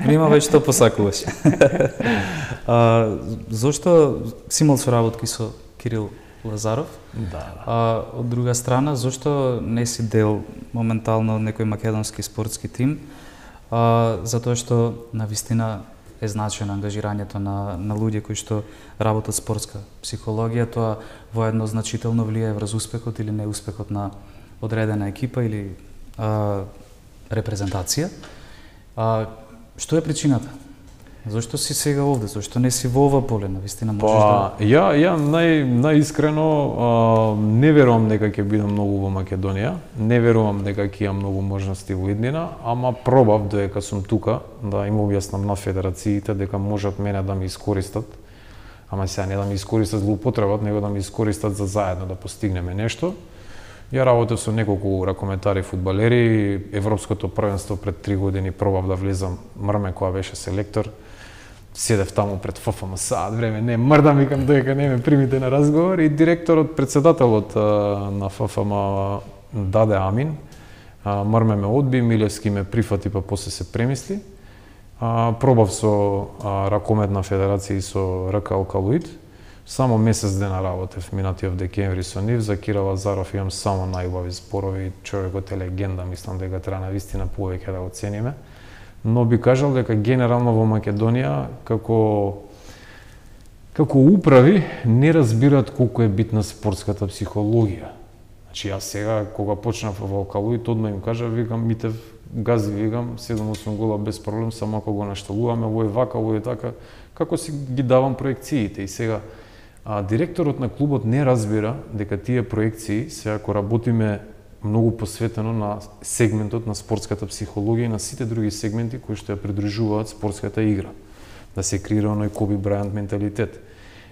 Има веќе што посакуваш. Зошто си имал соработки со Кирил Лазаров? Да. Од друга страна, зошто не си дел моментално некој македонски спортски тим? Затоа што навистина е значено ангажирањето на луѓе кои што работат спортска психологија, тоа воедно значително влијае врз успехот или неуспехот на одредена екипа или репрезентација. Што е причината? Зошто си сега овде? Зошто не си во ова поле? Навистина можеш да... Ја најискрено не верувам дека ќе бидам многу во Македонија, не верувам дека ќе имам многу можности во иднина, ама пробав додека сум тука да им објаснам на федерациите дека можат мене да ме искористат, ама сега не да ме искористат злоупотребат, него да ме искористат за заедно да постигнеме нешто. Ја работев со неколку ракометари фудбалери, Европското првенство пред 3 години пробав да влезам, Мрме која беше селектор. Седев таму пред ФФМ саат време, не мрдам, викам дека не ме примите на разговор и директорот, председателот на ФФМ даде амин. Мрме ме одби, Милевски ме прифати, па после се премисли. Пробав со ракометна федерација и со РК Алкалоид. Само месец дена работев минатиот декември со нив. За Кирил Лазаров имам само најубави зборови, човекот е легенда, мислам дека треба навистина повеќе да го цениме. Но би кажал дека генерално во Македонија како управи не разбираат колку е битна спортската психологија. Значи јас сега кога почнав во Алкалоид одма им кажав, викам Митев гази, викам 7-8 гола без проблем, само ако го нашталуваме, ово е вака, ово е така, како си ги давам проекциите. И сега директорот на клубот не разбира дека тие проекции, сега ако работиме многу посветено на сегментот на спортската психологија и на сите други сегменти кои што ја придружуваат спортската игра. Да се креира оној Коби Брајант менталитет.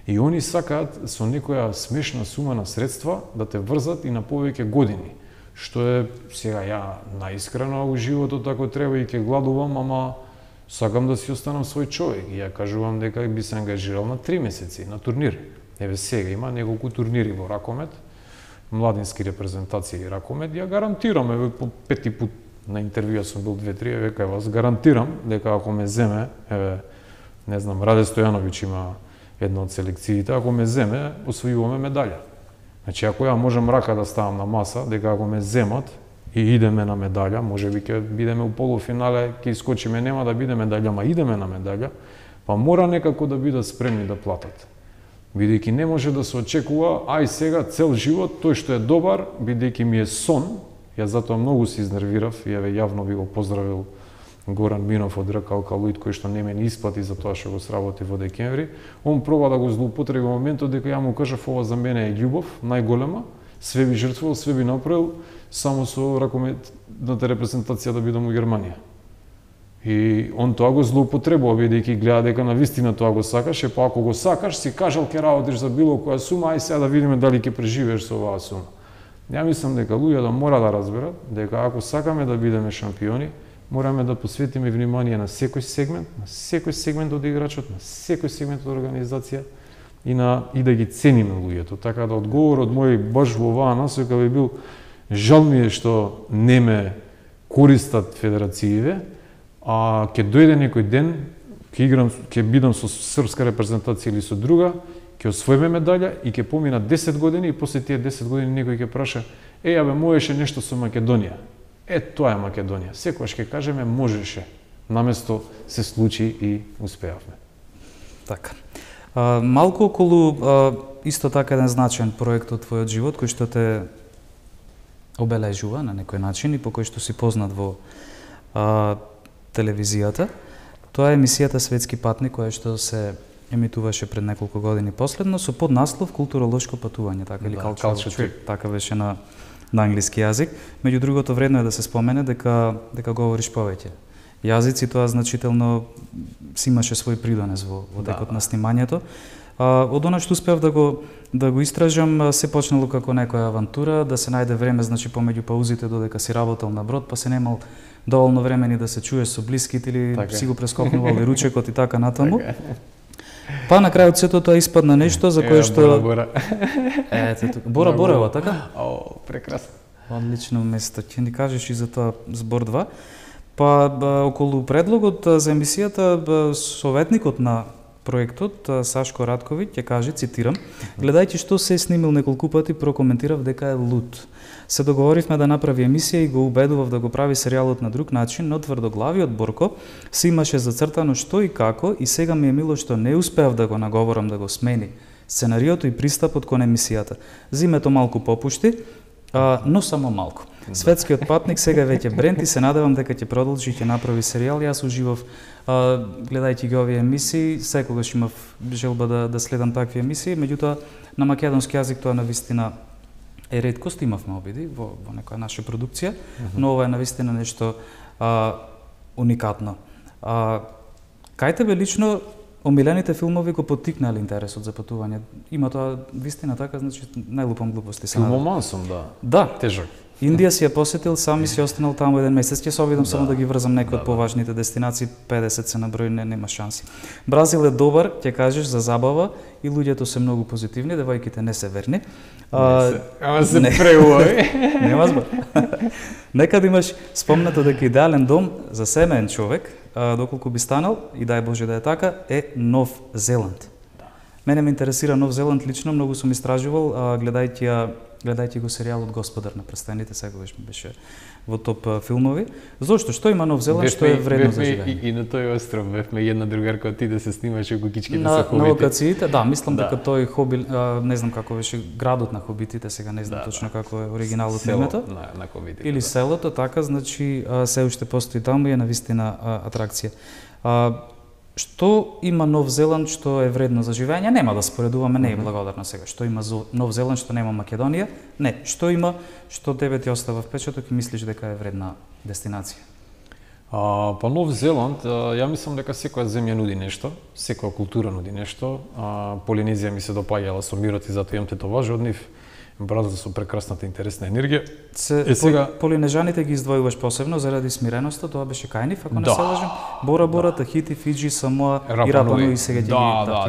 И они сакаат со некоја смешна сума на средства да те врзат и на повеќе години. Што е, сега ја наискрено у животот ако треба и ќе гладувам, ама сакам да си останам свој човек. И ја кажувам дека би се ангажирал на 3 месеци на турнир. Еве сега има неколку турнири во ракомет, младински репрезентации и ракомет, ја гарантирам, еве по 5 пат на интервјуа сум бил 2-3, еве кај вас гарантирам дека ако ме земе, еве не знам, Раде Стојановиќ има една од селекциите, ако ме земе, освојуваме медаља. Значи ако ја можам рака да ставам на маса, дека ако ме земат и идеме на медаља, можеби ќе бидеме у полуфинале, ќе искочиме, нема да биде медаља, ама идеме на медаља, па мора некако да бидат спремни да платат. Бидејќи не може да се очекува, ај сега цел живот, тој што е добар, бидејќи ми е сон, јас затоа многу се изнервирав и еве јавно би го поздравил Горан Минов од РК Алкалоид, кој што не ме ни исплати за тоа што го сработи во декември. Он проба да го злоупотреби во моментот дека ја му кажав ова за мене е љубов, најголема, све би жртвувал, све би направил, само со ракометната репрезентација да бидам во Германија. И он тоа го злоупотребува, бидејќи гледа дека навистина тоа го сакаш, па ако го сакаш, си кажал ќе работиш за било која сума, ај сега да видиме дали ќе преживееш со оваа сума. Ја мислам дека луѓето мора да разберат дека ако сакаме да бидеме шампиони, мораме да посветиме внимание на секој сегмент од играчот, на секој сегмент од организација и да ги цениме луѓето. Така да одговорот мој баш во оваа насока би бил жал ми е што не ме користат федерациите, а ќе дојде некој ден, ќе бидам со српска репрезентација или со друга, ќе освоиме медаља и ќе помина 10 години и после тие 10 години некој ќе праша: абе, можеше нешто со Македонија. Тоа е Македонија. Секогаш ќе кажеме можеше, наместо се случи и успеавме. Така. Малку околу исто така еден значаен проект од твојот живот кој што те обележува на некој начин и по кој што си познат во телевизијата. Тоа е емисијата Светски патник, која што се емитуваше пред неколку години последно со поднаслов Културолошко патување, така или cultural trip, така беше на англиски јазик. Меѓу другото, вредно е да се спомене дека говориш повеќе јазици, тоа значително си имаше свој придонес во текот на снимањето. Од она што успеав да го истражам, се почнало како некоја авантура, да се најде време, значи помеѓу паузите додека си работел на брод, па се немал доволно време ни да се чуеш со блиските или си го прескокнувал и ручекот и така натаму. Па на крајот сето тоа испадна нешто за кое што Бора, така? Прекрасно. Одлично место. Ќе ни кажеш и за тоа збор 2. Па околу предлогот за емисијата, советникот на проектот Сашко Радковиќ ќе каже, цитирам: "Гледајќи што се снимил неколку пати, прокоментирав дека е луд. Се договоривме да направи емисија и го убедував да го прави серијалот на друг начин, но тврдоглавиот Борко се имаше зацртано што и како и сега ми е мило што не успеав да го наговорам да го смени сценариото и пристапот кон емисијата. Зимето малку попушти, но само малку. Светскиот патник сега веќе бренд и се надевам дека ќе продолжи и ќе направи серијал. Јас уживав гледајќи ги овие емисии, секогаш имав желба да следам такви емисии, меѓутоа на македонски јазик тоа навистина е реткост, имавме обиди во некоја наша продукција, но ова е навистина нешто уникатно. Кај тебе лично омилените филмови го поттикнале интересот за патување? Има тоа вистина така, значи најлупам глупости се надам. Филмоман сум, Да. Тежок. Индија си ја посетил, сам и си останал таму еден месец. Ќе се обидам само да ги врзам некои од поважните дестинации, 50 се на број, нема шанси. Бразил е добар, ќе кажеш, за забава и луѓето се многу позитивни, девојките не се верни. Ама се преувај. Нема збор. Некад имаш спомнато дека идеален дом за семеен човек, доколку би станал, и дај Боже да е така, е Нов Зеланд. Мене ме интересира Нов Зеланд лично, многу сум истражувал, гледајќи го серијалот Господар на престените, секогаш ми беше во топ филмови. Зошто? Што има Нов Зеланд што е вредно за живење? И на тој остров бевме една другарка од да се снимаше кукичките со хобити. На локациите, да, мислам дека тој хоби, не знам како беше градот на хобитите, сега не знам точно како е оригиналот на името. На хобитите. Или селото, така, значи се уште постои таму и е навистина атракција. Што има Нов Зеланд што е вредно за живење? Нема да споредуваме, не е благодарно сега. Што има Нов Зеланд што нема Македонија? Не, што има што тебе ти остава впечаток и мислиш дека е вредна дестинација? Па Нов Зеланд, ја мислам дека секоја земја нуди нешто, секоја култура нуди нешто. Полинезија ми се допаѓала со мирот и затоа имам тетоважи од нив. Бразил со прекрасната интересна енергија. Сега полинежаните ги издвојуваш посебно заради смиреноста, тоа беше кај нив, ако не се лажам. Бора, Тахити, Фиџи, Самоа и Рапа Нуи сега ги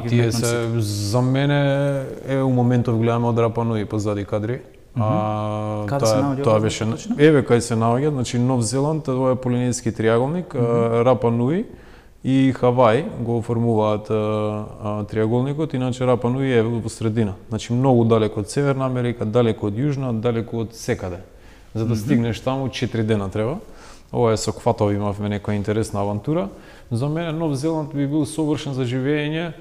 ги тие се за мене у моментов гледаме од Рапа Нуи позади кадри. Каде се наоѓа? Тоа беше кај се наоѓа, значи Нов Зеланд, тоа е полинезиски триаголник, Рапа Нуи и Хавај го оформуваат триаголникот, иначе Рапа Нуи е во средина. Значи многу далеко од Северна Америка, далеко од Јужна, далеко од секаде. За да стигнеш таму 4 дена треба. Ова е со кватови, имавме некоја интересна авантура. За мене Нов Зеланд би бил совршен за живење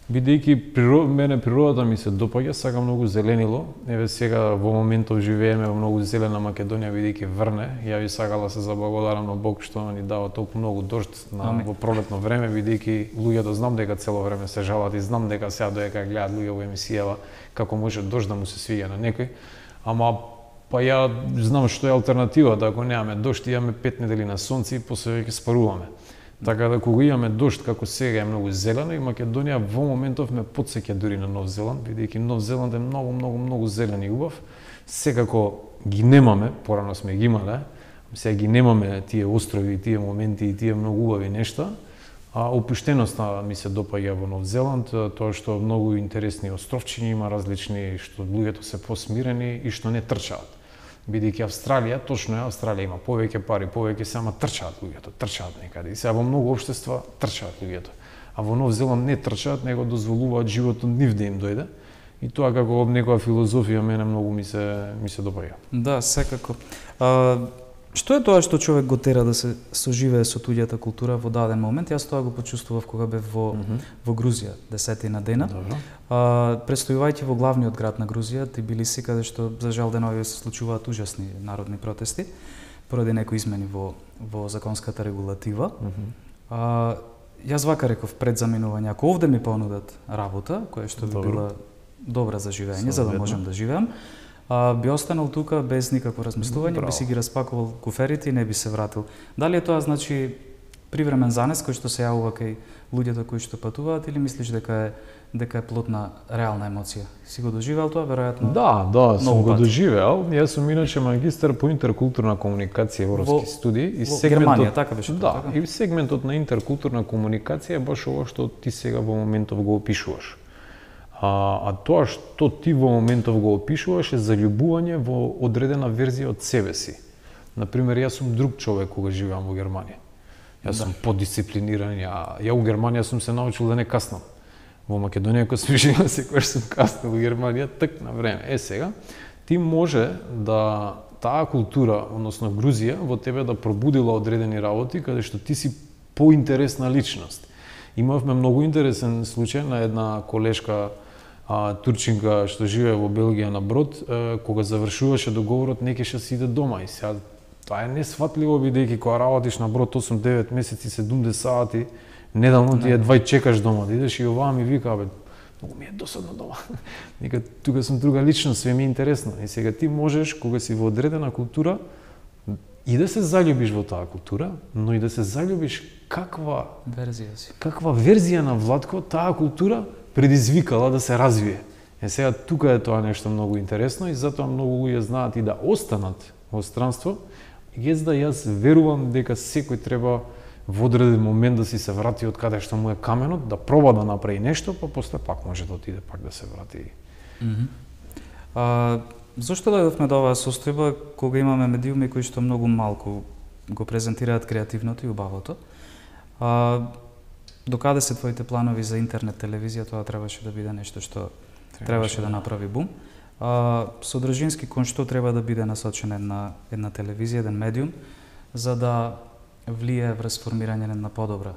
Бидејќи мене природата ми се допаѓа, сакам многу зеленило. Еве сега во моментов живееме во многу зелена Македонија, бидејќи врне. Ја би сакала се заблагодарам на Бог што ни дава толку многу дожд во пролетно време, бидејќи луѓето знам дека цело време се жалат и знам дека сега доека гледаат луѓе во емисијава како може дожд да му се свиѓа на некој. Ама па ја знам што е алтернативата, ако немаме дожд, имаме 5 недели на сонце и после ќе спаруваме. Така да кога имаме дожд како сега е многу зелено и Македонија во моментов ме потсеќа дури на Нов Зеланд, бидејќи Нов Зеланд е многу зелен и убав. Секако ги немаме, порано сме ги имале, сега ги немаме тие острови, тие моменти и тие многу убави нешта. А опуштеноста ми се допаѓа во Нов Зеланд, тоа што многу интересни островчиња има различни, што луѓето се посмирени и што не трчаат. Бидејќи Австралија, точно е, Австралија има повеќе пари, повеќе само трчаат луѓето, трчаат некаде. И сега во многу општества трчаат луѓето. А во Нов Зеланд не трчаат, него дозволуваат животот нив да им дојде. И тоа како некоја филозофија мене многу ми се допаѓа. Да, секако. Што е тоа што човек го тера да се соживее со туѓата култура во даден момент? Јас тоа го почувствував кога бев во Грузија, 10 дена. Престојувајќи во главниот град на Грузија, Тбилиси, каде што за жал денови се случуваат ужасни народни протести поради некои измени во законската регулатива. Јас вака реков пред заминување, ако овде ми понудат работа, која што би била добра за живење, за да можам да живеам, би останал тука без никакво размислување, би си ги распакувал куферите и не би се вратил. Дали е тоа значи привремен занес кој што се јавува кај луѓето кои што патуваат или мислиш дека е плод на реална емоција? Си го доживеал тоа веројатно? Да, сум го доживеал. Јас сум иначе магистар по интеркултурна комуникација во европски студии и сегментот Германија, така беше тоа. Така? И сегментот на интеркултурна комуникација е баш ова што ти сега во моментов го опишуваш. А тоа што ти во моментов го опишуваш е заљубување во одредена верзија од себе си. Например, јас сум друг човек кога живеам во Германија. Јас сум подисциплиниран, ја у Германија сум се научил да не каснам. Во Македонија кога сум живеал секогаш сум каснал, во Германија так на време. Сега ти може да таа култура, односно Грузија, во тебе да пробудила одредени работи каде што ти си поинтересна личност. Имавме многу интересен случај на една колешка турчинка што живее во Белгија на брод, кога завршуваше договорот не кеше си иде дома и сега тоа е несфатливо бидејќи кога работиш на брод 8-9 месеци 70 сати, недавно ти едва чекаш дома да идеш и оваа ми вика многу ми е досадно дома. Нека тука сум друга личност, све ми е интересно. И сега ти можеш кога си во одредена култура и да се заљубиш во таа култура, но и да се заљубиш каква верзија на Владко таа култура предизвикала да се развие. Сега тука е тоа нешто многу интересно и затоа многу луѓе знаат и да останат во странство. Јас верувам дека секој треба во одреден момент да си се врати од каде што му е каменот, да проба да направи нешто, па после пак може да отиде пак да се врати. Зошто дојдовме до оваа состојба кога имаме медиуми кои што многу малку го презентираат креативното и убавото? Докаде се твоите планови за интернет телевизија? Тоа требаше да биде нешто што требаше да направи бум. Содржински кон што треба да биде насочен една телевизија, еден медиум, за да влие врз формирање на подобра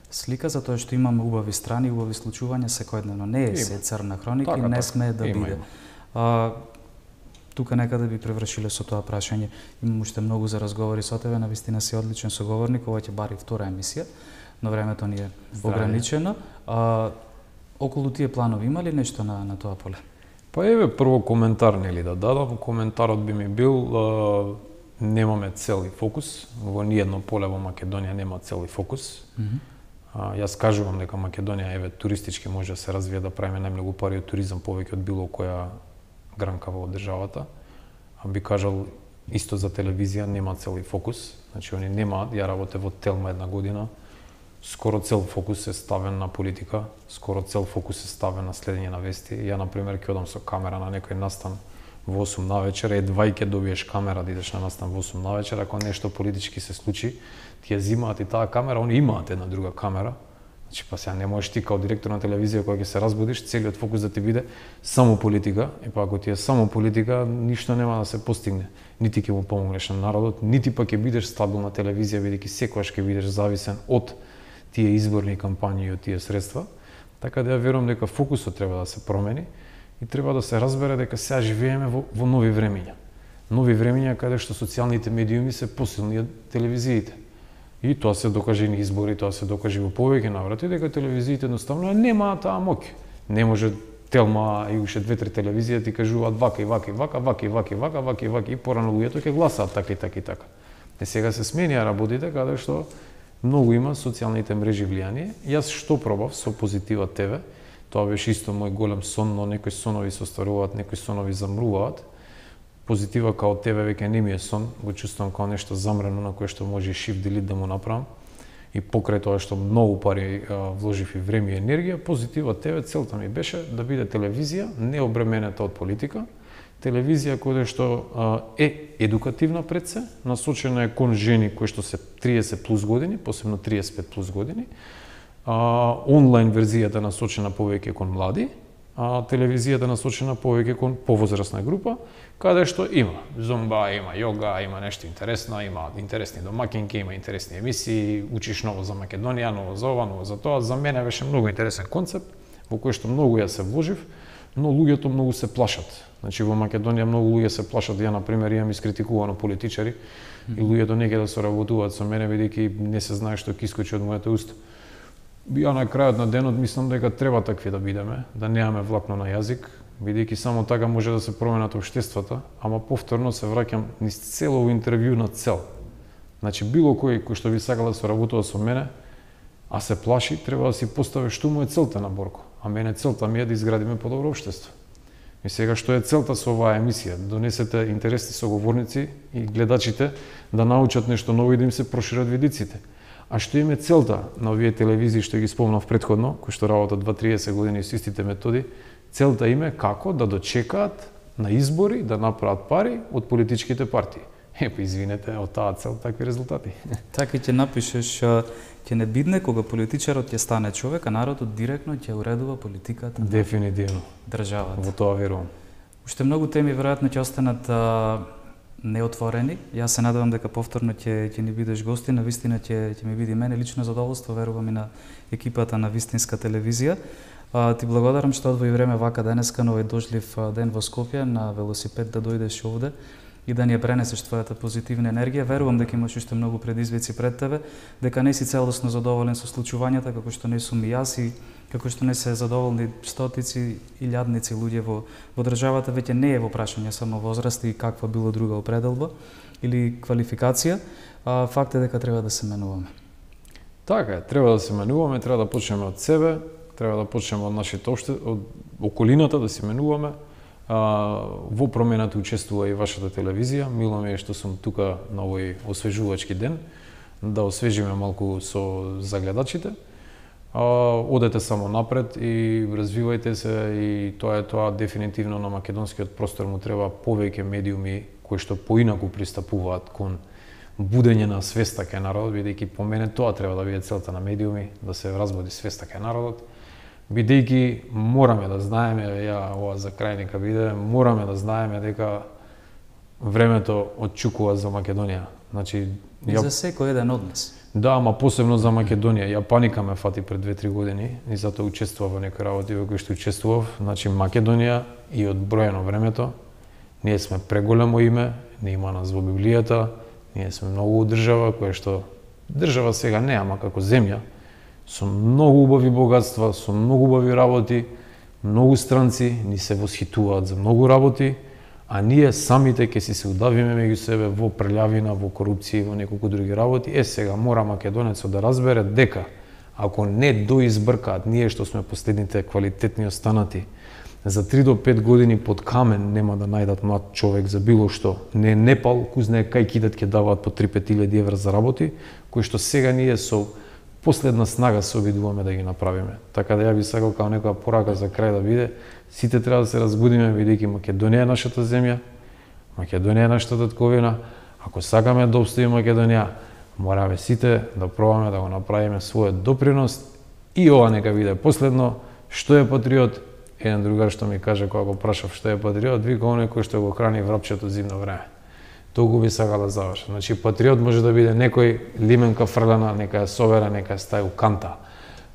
слика, затоа што имаме убави страни, убави случувања секојдневно. Не е се црна хроника и не сме да биде. Тука некаде би превршиле со тоа прашање. Имам уште многу за разговори со тебе, навистина си одличен соговорник, ова ќе бари втора емисија, но времето ни е ограничено. Околу тие планови има ли нешто на тоа поле? Па еве прво коментар нели да дадам. Коментарот би ми бил немаме цел и фокус. Во ниедно поле во Македонија нема цел и фокус. Јас кажувам дека Македонија еве туристички може да се развие, да правиме најмногу пари од туризам повеќе од било која гранка во државата. Би кажал исто за телевизија, нема цел и фокус. Значи они немаат, ја работев во Телма една година. Скоро цел фокус е ставен на политика, скоро цел фокус е ставен на следење на вести. Ја, например, ќе одам со камера на некој настан во 8 навечер, едва и ќе добиеш камера да идеш на настан во 8 навечер, ако нешто политички се случи, ти ја зимаат и таа камера, они имаат една друга камера. Значи, па сега не можеш ти као директор на телевизија кога ќе се разбудиш, целиот фокус да ти биде само политика, и па ако ти е само политика, ништо нема да се постигне. Нити ќе му помогнеш на народот, нити па ќе бидеш стабилна телевизија, бидејќи секогаш ќе бидеш зависен од тие изборни кампањи и од тие средства. Така да ја верувам дека фокусот треба да се промени и треба да се разбере дека сега живееме во нови времиња. Нови времиња каде што социјалните медиуми се посилни од телевизиите. И тоа се докаже и на избори, тоа се докаже во повеќе наврати дека телевизиите едноставно немаат таа моќ. Не може Телма и уште 2-3 телевизија ти кажуваат вака и вака и вака, вака и вака и вака, вака и вака и порано луѓето ќе гласаат така и така и така. Сега се сменија работите каде што многу има социјалните мрежи влијание. Јас што пробав со Позитива ТВ, тоа беше исто мој голем сон, но некои сонови се остваруваат, некои сонови замруваат. Позитива као ТВ веќе не ми е сон, го чувствувам као нешто замрено на кое што може и shift delete да му направам. И покрај тоа што многу пари вложив и време и енергија, Позитива ТВ целта ми беше да биде телевизија не обременета од политика, телевизија која што е едукативна пред се, насочена е кон жени кои што се 30 плюс години, посебно 35 плюс години, онлайн верзијата насочена повеќе кон млади, телевизијата насочена повеќе кон повозрасна група, каде што има зумба, има јога, има нешто интересно, има интересни домакинки, има интересни емисии, учиш ново за Македонија, ново за ова, ново за тоа. За мене беше многу интересен концепт, во кој што многу ја се вложив, но луѓето многу се плашат. Значи во Македонија многу луѓе се плашат. Ја на пример имам искритикувано политичари и луѓето не ќе да соработуваат со мене бидејќи не се знае што ќе искочи од моето уста. Ја на крајот на денот мислам дека треба такви да бидеме, да немаме влакно на јазик, бидејќи само така може да се променат општествата, ама повторно се враќам низ цело интервју на цел. Значи било кој што би сакал да соработува со мене, а се плаши, треба да си постави што му е целта на Борко. А мене целта ми е да изградиме подобро општество. И сега што е целта со оваа емисија? Донесете интересни соговорници и гледачите да научат нешто ново и да им се прошират видиците. А што им е целта на овие телевизии што ги спомнав претходно, кои што работат 20-30 години со истите методи? Целта им е како да дочекаат на избори да направат пари од политичките партии. Епа, извинете, од таа цел такви резултати. Така ќе напишеш, ќе не бидне кога политичарот ќе стане човек, а народот директно ќе уредува политиката. Дефинитивно. Државата. Во тоа верувам. Уште многу теми веројатно ќе останат неотворени. Јас се надевам дека повторно ќе ни бидеш гости, на вистина ќе ми биде мене лично задоволство, верувам и на екипата на Вистинска телевизија. Ти благодарам што одвои време вака денеска на овој дожлив ден во Скопје на велосипед да дојдеш овде и да ни ја пренесеш твојата позитивна енергија. Верувам дека имаш уште многу предизвици пред тебе, дека не си целосно задоволен со случувањата, како што не сум и јас и како што не се задоволни стотици и илјадници луѓе во државата. Веќе не е во прашање само возраст и каква било друга определба или квалификација, факт е дека треба да се менуваме. Така е, треба да се менуваме, треба да почнеме од себе, треба да почнеме од нашите од околината да се менуваме. Во промената учествува и вашата телевизија. Мило ми е што сум тука на овој освежувачки ден, да освежиме малку со загледачите. Одете само напред и развивајте се и тоа дефинитивно на македонскиот простор му треба повеќе медиуми кои што поинаку пристапуваат кон будење на свеста кај народот, бидејќи по мене тоа треба да биде целта на медиуми, да се разбуди свеста кај народот. Бидејќи мораме да знаеме, ја ова за крај нека биде, мораме да знаеме дека времето отчукува за Македонија. Значи, за секој еден од нас. Да, ама посебно за Македонија. Ја паника ме фати пред 2-3 години и затоа учествував во некои работи во кои што учествував. Значи Македонија и од бројано времето, ние сме преголемо име, не има нас во Библијата, ние сме многу држава која што држава сега не, ама како земја, со многу убави богатства, со многу убави работи, многу странци ни се восхитуваат за многу работи, а ние самите ќе си се удавиме меѓу себе во прелјавина, во корупција и во неколку други работи. Сега мора македонецот да разбере дека ако не доизбркаат ние што сме последните квалитетни останати, за 3 до 5 години под камен нема да најдат млад човек за било што. Не Непал, кој знае кај кидат ќе даваат по 3-5 илјади евра за работи, кои што сега ние со последна снага се обидуваме да ги направиме. Така да ја би сакал као некоја порака за крај да биде, сите треба да се разбудиме, бидејќи Македонија е нашата земја, Македонија е нашата татковина. Ако сакаме да обстои Македонија, мораме сите да пробаме да го направиме својот допринос и ова нека биде последно. Што е патриот? Еден другар што ми каже кога го прашав што е патриот, вика оној кој што го храни врапчето зимно време. Толку би сакал да завршам. Значи патриот може да биде некој лименка фрлена, нека ја собере, нека ја стави у канта.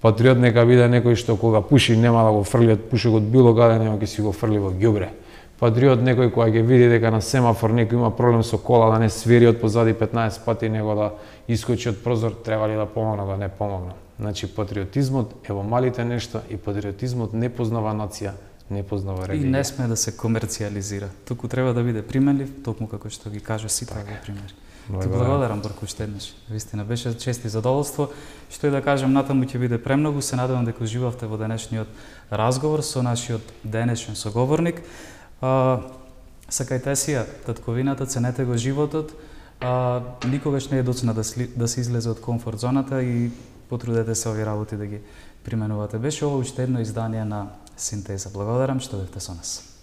Патриот нека биде некој што кога пуши нема да го фрли од пушокот било каде, нема ќе си го фрли во ѓубре. Патриот некој кога ќе види дека на семафор некој има проблем со кола, да не свири од позади 15 пати, него да искочи од прозор, треба ли да помогне, да не помогне. Значи патриотизмот е во малите нешта и патриотизмот не познава нација, не познава религија. И не сме да се комерцијализира. Туку треба да биде применлив, токму како што ги кажа сите овие примери. Ти благодарам Борко уште еднаш. Вистина беше чест и задоволство. Што и да кажам, натаму ќе биде премногу. Се надевам дека уживавте во денешниот разговор со нашиот денешен соговорник. Сакајте си ја татковината, ценете го животот. Никогаш не е доцна да се излезе од комфорт зоната и потрудете се овие работи да ги применувате. Беше ова уште едно издание на Синтеза. Благодарам што бевте со нас.